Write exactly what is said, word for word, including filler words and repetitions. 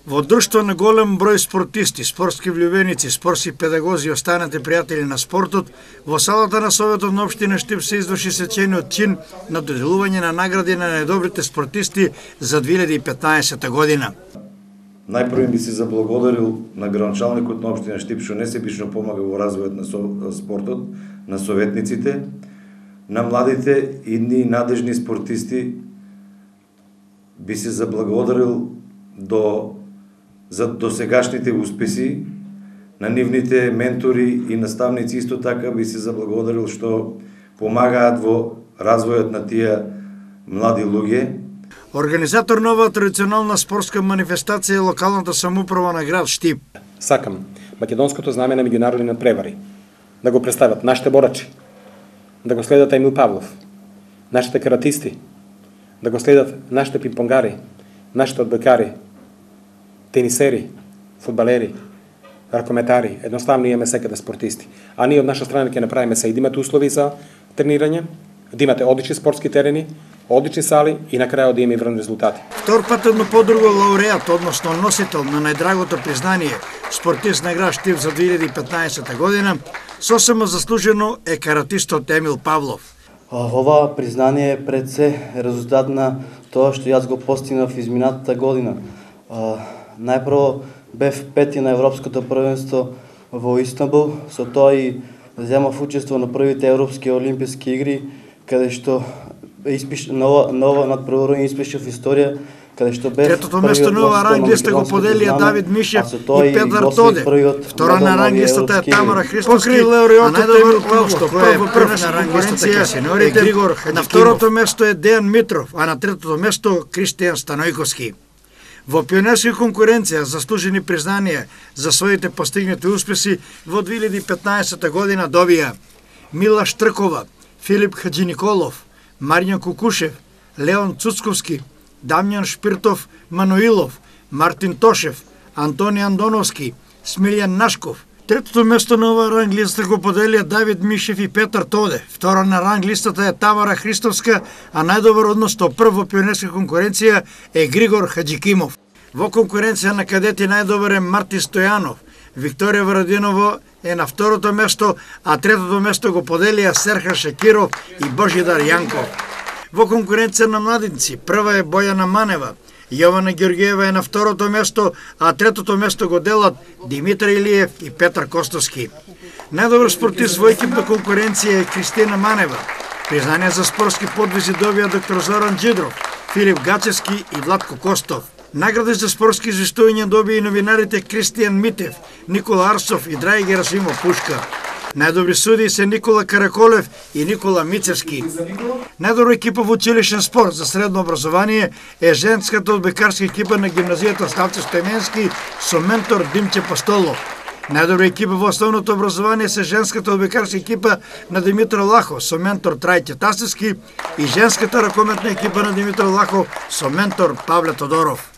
Во друштво на голем број спортисти, спортски влюбеници, спортски педагози и останати пријатели на спортот, во салата на Советот на општина Штип се изврши свечениот чин на доделување на награди на најдобрите спортисти за две илјади и петнаесета година. Најпрво би се заблагодарил на градоначалникот на општина Штип што несебично помага во развојот на спортот, на советниците, на младите идни надежни спортисти. Би се заблагодарил до за досегашните успеси, на нивните ментори и наставници исто така би се заблагодарил што помагаат во развојот на тие млади луѓе. Организатор на оваа традиционална спортска манифестација е локалната самоуправа на град Штип. Сакам македонското знаме на меѓународни надпревари да го представат нашите борачи, да го следат Емил Павлов, нашите каратисти, да го следат нашите пинг-понгари, нашите одбојкари, тенисери, фудбалери, ракометари, едноставно имаме секаде спортисти. А ние од наша страна ќе направиме се и да имате услови за тренирање, да имате одлични спортски терени, одлични сали и на крајот да има и врн резултати. Втор пат едноподруго лауреат, односно носител на најдрагото признание, спортист на град Штип за две илјади и петнаесета година, сосема заслужено е каратистот Емил Павлов. Ова признание е пред се резултат на тоа што јас го постигнав изминатата година. Најпрво бев пети на Европското првенство во Истанбул, со тоа и земав учество на првите Европски олимписки игри, каде што испиш нова нова надпреварување испишав историја, каде што бев третото место на оваа ранг листа го поделија Давид Мишев и Петар Тоде. Втора на ранг листата е Тамара Христовски, а најдобар Павлов што е прв на ранг листата сеньорите Григор Хаджикимов. На второто место е Дејан Митров, а на третото место Кристијан Станојковски. Во пионерска конкуренција заслужени признанија за своите постигнати успеси во две илјади и петнаесета година добија Мила Штркова, Филип Хаджиниколов, Маријан Кукушев, Леон Цуцковски, Дамјан Шпиртов Мануилов, Мартин Тошев, Антони Андоновски, Смилјан Нашков. Третото место на оваа ранг листа го поделија Давид Мишев и Петар Тоде. Втора на ранг листата е Тамара Христовска, а најдобар односно прв во пионерска конкуренција е Григор Хаджикимов. Во конкуренција на кадети најдобар е Марти Стојанов. Викторија Варадиново е на второто место, а третото место го поделија Серхан Шакиров и Божидар Јанков. Во конкуренција на младинци прва е Бојана Манева, Јована Георгиева е на второто место, а третото место го делат Димитар Илиев и Петар Костовски. Најдобар спортист во екипна конкуренција е Кристина Манева. Признание за спортски подвизи добија доктор Зоран Джидров, Филип Гачевски и Владко Костов. Награди за спортски извештувања добија и новинарите Кристијан Митев, Никола Арсов и Драје Герасимов Пушка. Најдобри судии се Никола Караколев и Никола Мицевски. Најдобра екипа во училишен спорт за средно образование е женската одбојкарска екипа на гимназијата Ставче Стојменски со ментор Димче Пастолов. Најдобра екипа во основното образование се женската одбојкарска екипа на Димитар Лахов со ментор Трајче Тасевски и женската ракометна екипа на Димитар Лахов со ментор Павле Тодоров.